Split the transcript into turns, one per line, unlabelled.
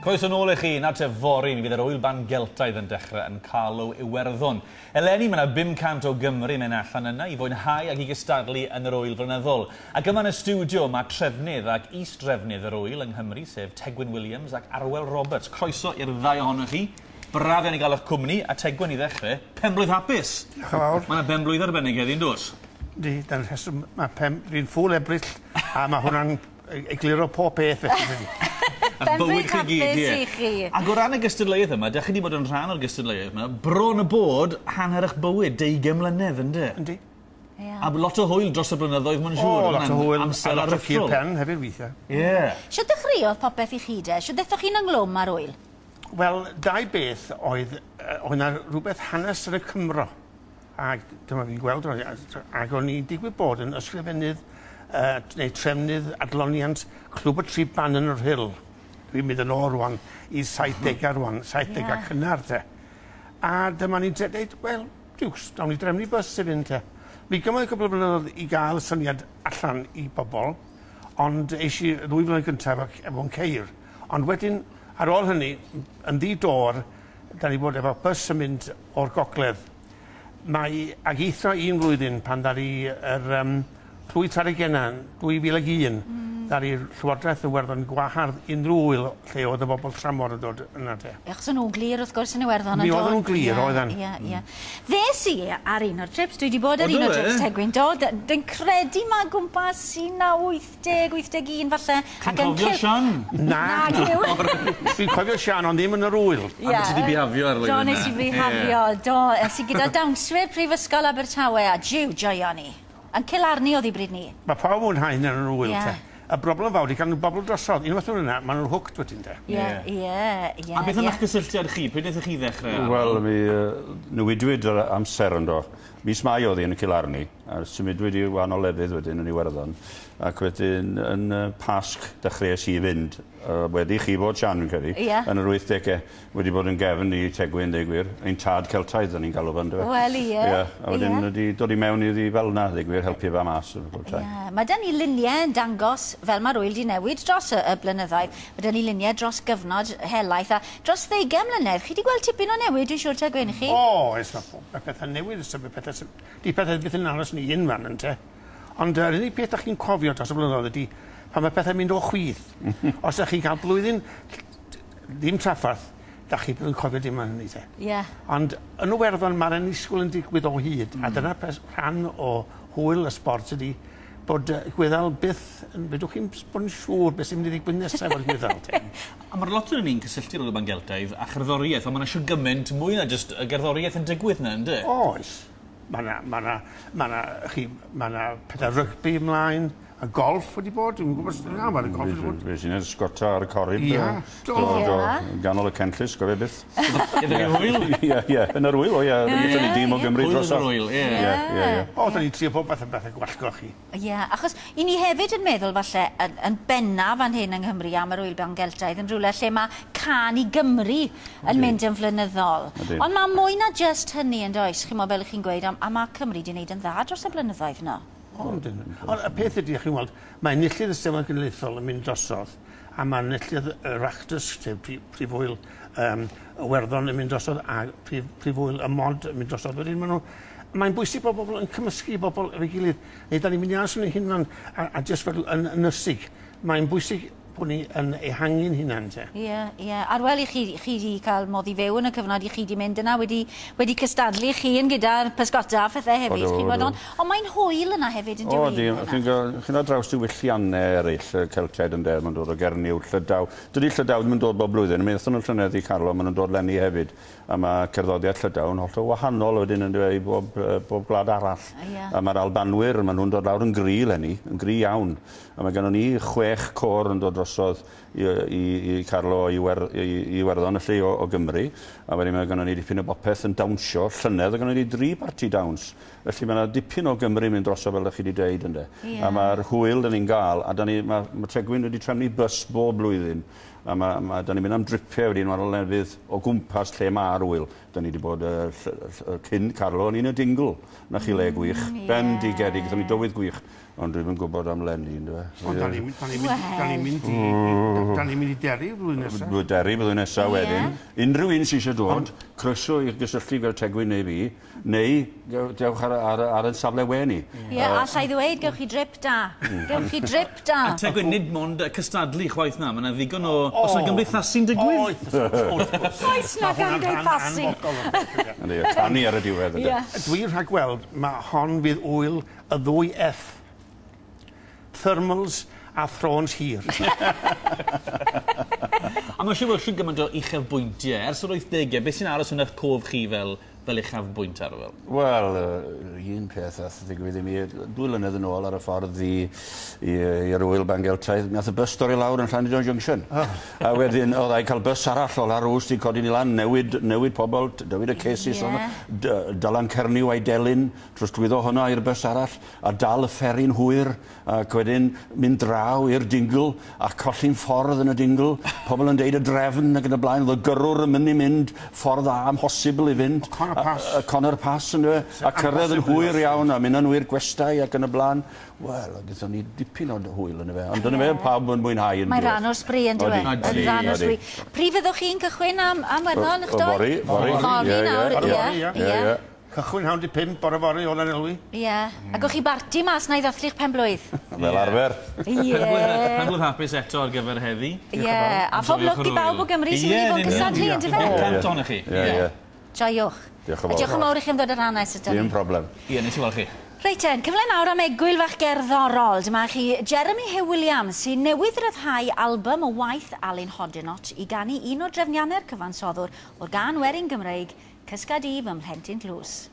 Croeso nôl i chi, nawr te fory, mi fydd yr Ŵyl Ban Geltaidd yn dechrau yn Carlow, Iwerddon. Eleni mae yna 500 o Gymry yn mynd allan yna i fwynhau ac i gystadlu yn yr ŵyl flynyddol. Ac yma yn y stiwdio mae trefnydd ac is-drefnydd yr ŵyl yng Nghymru, sef Tegwyn Williams ac Arwel Roberts. Croeso i'r ddau ohonoch chi. Braf iawn i gael eich cwmni, a Tegwyn i ddechrau, penblwydd hapus!
Diolch yn fawr.
Mae yna benblwydd arbennig heddi, yn does?
Yndi, dyna'r rheswm, mae pen... Fi'n ffŵl Ebrill, a mae hwnna'n egluro pob peth felly dydi?
A'ch bywyd chi gyd, ie.
i chi.
Ac o ran y gystadleuaeth yma, dach chi 'di bod yn rhan o'r gystadleuaeth yma bron a bod hanner 'ych bywyd, deugain mlynedd, ynde?
Yndi.
Ie.
A lot o hwyl dros y blynyddoedd, mae'n siŵr.
O, lot o hwyl.
Amser
a lot o
aruthrol.
cur pen hefyd weithiau.
Ie.
Shwt ddechreuodd popeth i chi de? Shwt ddethoch chi'n ynghlwm â'r ŵyl?
Wel, dau beth oedd, oedd 'na rhywbeth hanes yn y Cymro. Ac dyma fi'n gweld, ac o'n i'n digwydd bod yn ysgrifennydd neu trefnydd adloniant Clwb y Tri Ban yn y Rhyl. Dwi'n mynd yn ôl rwan i 70au rwan, 70au
yeah.
cynnar te. A dyma ni'n dweud, wel, diws, nawn ni drefnu bws i fynd te. Mi gymoedd cwpl o blynyddoedd i gael y syniad allan i bobl, ond eis i ddwy flynedd gyntaf efo'n ceir. Ond wedyn, ar ôl hynny, yn ddi-dor, da ni bod efo bws yn mynd o'r gogledd. Mae, ag eithrio un flwyddyn pan ddaru yr Clwyd Taregenna, 2001, ddaru Llywodraeth Iwerddon gwahardd unrhyw ŵyl lle oedd y bobl tramor yn dod yna te.
Achos o'n nhw'n glir wrth gwrs yn Iwerddon
Mi oedden nhw'n glir, oedden.
Ie, ie. Ddes i ar un o'r trips, dwi wedi bod ar
O,
un
do
o'r
fe?
trips Tegwyn, do, dwi'n credu ma' gwmpas 1980, 81 falle.
Ti'n cofio Sian?
Na.
Na,
Dwi'n cofio Sian, ond ddim yn yr ŵyl.
Ie.
A ti 'di bihafio ar y
Do,
flwyddyn
nes i
'na.
bihafio, do. Es i gyda dawnswyr Prifysgol Abertawe a jiw, joio ni. Yn Cilarni oedd hi bryd ni.
Mae pawb yn mwynhau hynny yn yr ŵyl
Ie.
te. Y broblem fawr 'di cael nhw bobl drosodd. Unwaith maen nhw yna, maen nhw'n hooked wedyn te.
Ie, ie, ie.
A beth am
ie.
eich gysylltiad chi? Pryd wnaethoch chi ddechrau?
Wel, mi newidwyd yr amser yndo. Mis Mai oedd hi yn y Cilarni, a symudwyd i wahanol lefydd wedyn yn Iwerddon. Ac wedyn yn Pasg dechreuais i fynd, wedi chi fod Sian, fi'n credu,
Ie.
yn yr 80au, wedi bod yn gefn i Tegwyn, deud gwir, ein tad Celtaidd, o'n i'n galw fo, yndyfe?
Wel, ie.
Ie, a wedyn
Ie.
wedi dod i mewn iddi fel 'na, deud gwir, helpu fe mas bob tro.
Ie, mae 'da ni luniau yn dangos fel mae'r ŵyl 'di newid dros y, y blynyddoedd. Mae 'da ni luniau dros gyfnod helaeth a dros ddeugain mlynedd. Chi 'di gweld tipyn o newid, dwi'n siŵr, Tegwyn, chi?
O, oes, mae pethau'n newid, mae pethau, di pethau byth yn aros yn un fan, ynte. Ond yr unig peth dach chi'n cofio dros y blynyddoedd ydy pan mae pethau'n mynd o chwith. Os ydych chi'n cael blwyddyn ddim traffarth, dach chi byth yn cofio dim am hynny te.
Ie.
Ond yn Iwerddon mae'r annisgwyl yn digwydd o hyd, a dyna rhan o hwyl y sbort ydy bod Gwyddel byth, yn, fedrwch chi'n bod yn siŵr beth sy'n mynd i ddigwydd nesaf efo'r Gwyddel te.
A mae'r lot o'n ni'n cysylltu'r Ŵyl Ban Geltaidd a cherddoriaeth, ond mae yna siwr gymaint mwy na jyst y gerddoriaeth yn digwydd 'na, ynde?
Oes. Mae 'na, ma' 'na, ma' 'na, chi, ma' 'na pethau rygbi ymlaen, y golf wedi bod, dwi'n gwybod, na, mae'r golf wedi bod.
Fe sy'n ysgota ar y corib.
Ie.
Do,
Do.
do,
Ie.
ganol y cenllysg, gofio byth.
Iddo chi hwyl?
Ie, ie, yn yr ŵyl, o ie. Gyda ni dîm o Gymru
Hwyl yn
drosodd.
yr ŵyl, ie.
Ie, ie, ie.
O, da ni'n trio pob fath o bethau gwallgo chi.
Ie, achos i ni hefyd yn meddwl falle yn, yn bennaf fan hyn yng Nghymru am yr Ŵyl Ban Geltaidd yn rhywle lle mae Cân i Gymru yn mynd yn flynyddol.
Ydi.
Ond mae mwy na jyst hynny yn does, chi'n fel ych chi'n gweud, a mae Cymru 'di wneud yn dda dros y blynyddoedd yno.
Ond, ond y peth ydy, chi'n weld, mae enillydd y Steddfod Genedlaethol yn mynd drosodd, a mae enillydd yr Oireachtas, sef prif ŵyl Iwerddon yn mynd drosodd, a prif ŵyl y Mod yn mynd drosodd. Wedyn maen nhw, mae'n bwysig bod bobl yn cymysgu bobl efo'i gilydd. Neu da ni'n mynd i aros yn ein hunan a jyst fel yn ynysig. Mae'n bwysig bod ni yn ehangu'n hunan te.
Ie, ie. Arwel, i chi, chi 'di cael modd i fyw yn y cyfnod i chi 'di mynd yna, wedi cystadlu chi yn gyda'r pysgota a phethau hefyd.
Odw,
chi'n gwbod,
odw.
ond mae'n hwyl yna hefyd yn
O,
dyw
di, chi'n dod draws diwylliannau eraill, y Celtiaid ynde, ma'n dod o Gernyw, Llydaw. Dydy Llydaw ddim yn dod bob blwyddyn, mi aethon nhw llynedd i Carlo, maen nhw'n dod leni hefyd. A mae cerddoriaeth Llydaw yn hollol wahanol wedyn yn i bob gwlad arall.
Ie.
A mae'r Albanwyr, maen nhw'n dod lawr yn gry leni, yn gry iawn. A mae gennon ni 6 côr yn dod drosodd i Carlo i Iwerddon, felly o Gymru. A wedyn mae gennon ni dipyn o bopeth yn dawnsio. Llynedd, oedd gennon ni 3 parti dawns. Felly mae yna dipyn o Gymru mynd drosodd fel ydych chi wedi deud, ynde.
Ie.
A mae'r hwyl da ni'n gael, a da ni, mae Tegwyn wedi trefnu bws bob blwyddyn. A da ni'n mynd am dripiau wedyn, wahanol lefydd o gwmpas lle mae'r ŵyl. Da ni wedi bod cyn Carlo, o'n i'n y Dingle. Na chi le gwych, bendigedig, gaethon ni dywydd gwych. Ond dwi'm yn gwybod am 'leni, yndyfe?
Ond da ni'n mynd i Derry flwyddyn nesaf.
Derry flwyddyn nesaf wedyn. Unrhyw un sy'n eisiau dod, croeso i gysylltu fel Tegwyn neu fi, neu dewch ar ein safle we ni.
Ie, alla i ddweud, gewch chi drip da. Gewch chi drip da.
A Tegwyn, nid mond cystadlu chwaith na, mae yna ddigon o... Oes yna gymdeithasu'n digwydd?
Oes na gymdeithasu.
Canu ar y diwedd.
Dwi'n rhagweld, mae hon fydd ŵyl y ddwy F. Thermals a thrones hir.
A mae'n siŵr bod chi'n gymaint o uchafbwyntiau. Ers yr 80au, beth sy'n aros yn eich cof chi fel uchafbwynt ar ŵyl?
Wel, un peth ath ddigwydd i mi, 2 mlynedd yn ôl ar y ffordd i'r ŵyl Ban Geltaidd, mi ath y bus dorri lawr yn Llandudno Junction. A wedyn, oedd e'n cael bus arall o Larws i codi ni lan, newid pobl, newid y cases, Dylan Cernyw a'i delyn, trosglwyddo hwnna i'r bus arall, a dal y fferi'n hwyr, ac wedyn mynd draw i'r Dingle, a colli'n ffordd yn y Dingle, pobl yn deud y drefn ac yn y blaen, oedd y gyrrwr yn mynd i mynd ffordd a amhosibl i fynd. Conor Pass, yndyfe, a cyrraedd yn hwyr iawn, a mynd yn hwyr gwestai ac yn y blaen. Wel, gyda ni dipyn o hwyl yn y fe, ond dyna fe, pawb yn mwynhau yn
Mae rhan o'r sbri yn dywe. Rhan o'r sbri. Pryd fyddwch chi'n cychwyn am Werddon, eich doi?
Fory.
Fory nawr, ie.
Cychwyn 4:30 bore fory o Lanelwy.
Ie. A gewch chi barti mas na i ddathlu'ch penblwydd.
Fel arfer.
Ie.
Penblwydd hapus eto ar gyfer heddi.
Ie. A phob lwc i bawb o Gymru sy'n mynd i fod yn cystadlu, yn dyfe?
500 ohonoch chi.
Ie.
Joiwch.
Diolch yn fawr.
Diolch yn fawr i chi am ddod ar hanes ydyn ni.
Dim problem.
Ie, nes i weld chi.
Reit ten, cyfle nawr am egwyl fach gerddorol. Dyma chi Jeremy Huw Williams sy'n newydd ryddhau album o waith Alun Hoddinott i ganu un o drefniannau'r cyfansoddwr o'r gân werin Gymreig, Cysgad i fy mhlentyn tlws.